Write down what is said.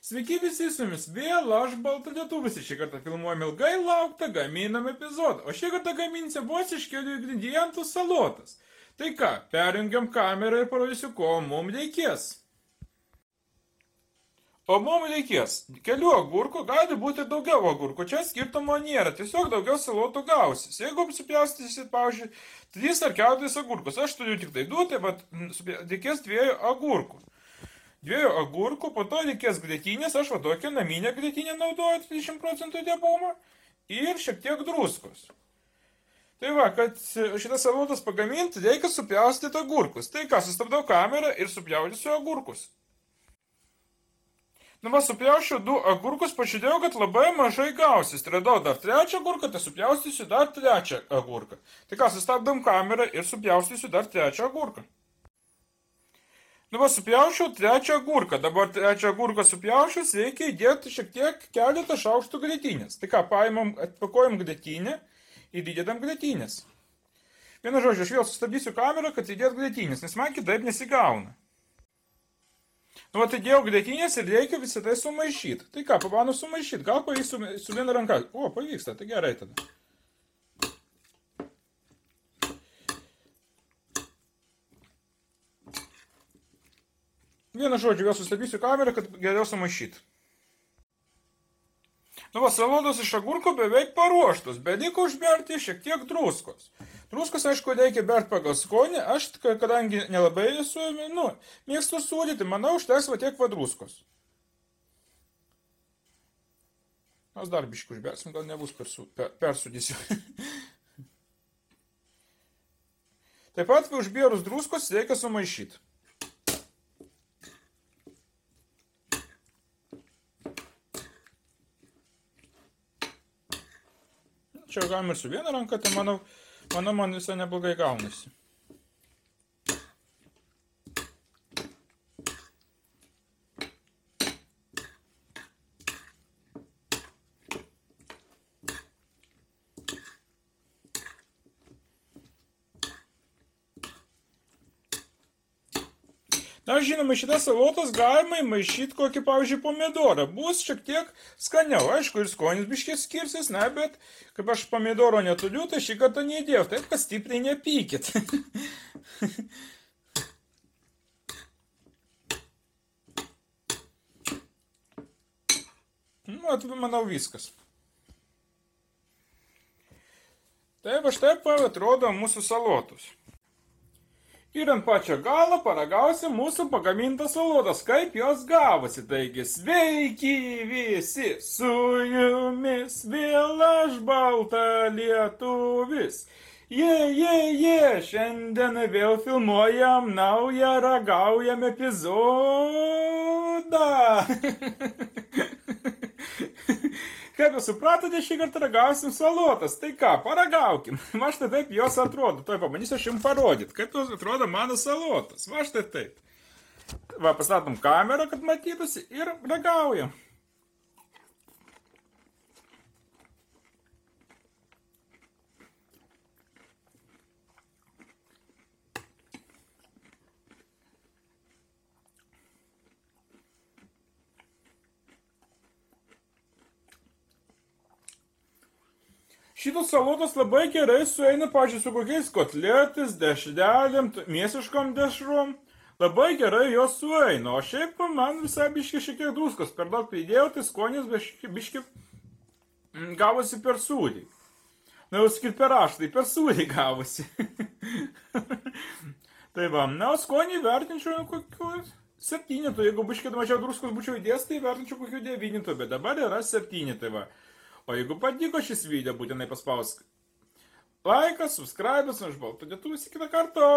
Sveiki visi, su jumis vėl aš Balta Lietuvis. Šį kartą filmuojam ilgai lauktą gaminam epizodą, o šį kartą gaminsim vos iš kelių ingredientų salotas. Tai ką, perjungiam kamerą ir parodysiu, ko mums reikės. O mums reikės kelių agurkų, gali būti ir daugiau agurkų, čia skirtumo nėra, tiesiog daugiau salotų gausis. Jeigu apsipjaustysit, pavyzdžiui, 3 ar 4 agurkus, aš turiu tik tai 2, tai reikės 2 agurkų. 2 agurkų, po to reikės grietinės, aš va tokią naminę grietinę naudoju 30% riebumo ir šiek tiek druskos. Tai va, kad šitas salotas pagaminti, reikia supjaustyti agurkus. Tai ką, sustabdau kamerą ir supjaustysiu agurkus. Nu va, supjaušiu 2 agurkus, pažiūrėjau, kad labai mažai gausis. Radau dar 3 agurką, tai supjaustysiu dar 3 agurką. Tai ką, sustabdam kamerą ir supjaustysiu dar 3 agurką. Nu va, supjaušiau 3 agurką. Dabar 3 agurką supjaušius, reikia įdėti šiek tiek keletą šaukštų grietinės. Tai ką, paimam, atpakuojam grietinę ir įdėdam grietinės. Vienu žodžiu, aš vėl sustabdysiu kamerą, kad įdėt grietinės, nes man kitaip nesigauna. Nu va, įdėjau grietinės ir reikia visą tai sumaišyti. Tai ką, pabandau sumaišyti, gal pavyks su viena ranka. O, pavyksta, tai gerai tada. Vienu žodžiu, vėl sustabdysiu kamerą, kad geriau sumaišyti. Nu va, salotos iš agurkų beveik paruoštos, bet liko užberti šiek tiek druskos. Druskos, aišku, reikia berti pagal skonį, aš, kadangi nelabai esu, mėgstu sūdyti, manau, užteks va tiek va druskos. Mes dar biškį užbersim, gal nebus persūdysiu. Taip pat, užbėrus druskos, reikia sumaišyti. Čia galima ir su viena ranka, tai manau, man visai neblogai gaunasi. Na, žinoma, šitas salotas galima įmaišyti kokį, pavyzdžiui, pomidorą. Bus šiek tiek skaniau. Aišku, ir skonis biškiai skirsis, na, bet kaip aš pomidoro neturiu, tai šį kartą neįdėjau. Taip, kad stipriai nepykit. Nu, manau, viskas. Taip, aš taip atrodo mūsų salotus. Ir ant pačio galo paragausim mūsų pagamintas salotas, kaip jos gavosi. Taigi, sveiki visi, su jumis vėl aš Balta Lietuvis. Šiandien vėl filmuojam naują ragaujam epizodą. Kaip jūs supratote, šį kartą ragausim salotas. Tai ką, paragaukim. Va štai taip jos atrodo. Tuoj pabandysiu aš jums parodyti, kaip jos atrodo mano salotas. Va štai taip. Va, pastatom kamerą, kad matytųsi ir ragaujam. Šitos salotos labai gerai sueina, pažiūrėjau, su kokiais kotletais, dešrelėm, mėsiškom dešrom. Labai gerai jos sueina, o šiaip man visai biški šiek tiek druskos per daug pridėjau, tai skonis biški gavosi per sūrį. Na, jau sakyti per aštai, per sūrį gavosi. Tai va, na, o skonį vertinčiau kokiu 7, jeigu biški mažiau druskos būčiau įdės, tai vertinčiau kokiu 9, bet dabar yra 7, tai va. O jeigu patiko šis video, būtinai paspausk laiką, subscribe, aš Balta Lietuvis, iki kito karto.